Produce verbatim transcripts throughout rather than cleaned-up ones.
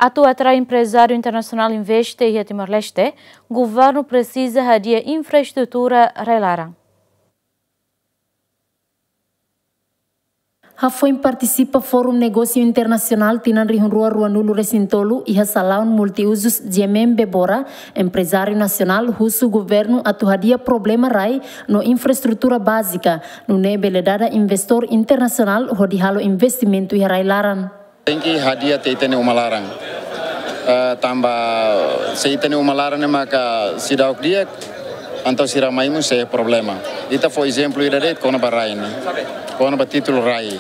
Atu atrai emprezáriu internasionál investe iha Timor-Leste, governu presiza hadi'a infraestrutura rai-laran. Hafoin partisipa Fórum Negósiu Internasionál tinan rihun rua ruanulu resin tolu iha salaun multiuzus G M M Bebora, emprezáriu nasionál husu governu atu hadi'a problema rai no infraestrutura bázika, nune'e bele dada investór internasionál hodi halo investimentu iha rai-laran. Tenke hadi'a tiha ita-nia uma laran. Eh, tanba se ita-nia uma laran ne'e maka seidauk di'ak, entaun sira mai mós sei problema. Ita fó ezemplu ida de'it kona-ba rai ne'e. Kona-ba títulu rai.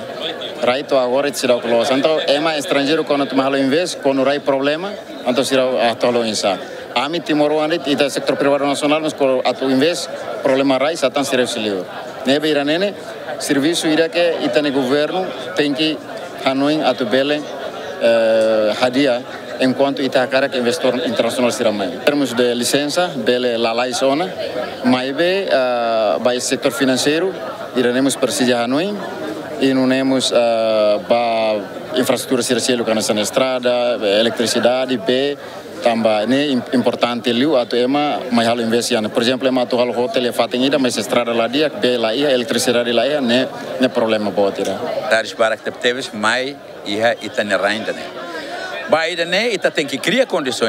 Rai to'o agora ita seidauk loos. Entaun ema estranjeiru kuandu tama halo invest, kuandu rai problema, entaun sira atu halo oinsá. Ami timoroan de'it, ita setór privadu nasionál, mas kuandu atu invest, problema rai, sá tan sira husi liur. Ne'ebé ida-ne'e ne'e servisu ida ke ita-nia governu tenke hanoin atu bele, eh, hadi'a enkuantu ita hakarak investór internasionál sira mai. Termus de lisensa, bele lalais ona, maibé, eh, ba setór finanseiru, ida-ne'e mós presiza hanoin, i nune'e mós, eh, ba infraestrutura sira seluk hanesan estrada, eletrisidade, bee, tanba ne'e im-, importante liu atu ema mai halo invest iha ne'e. Por ezemplu, ema atu halo hotel iha fatin ida, mas estrada la di'ak, bee la iha, eletrisidade la iha, ne'e, ne'e problema boot ida. Taris barak tebetebes mai iha ita-nia rai ida-ne'e. Ba ida-ne'e ita tenke kria kondisoens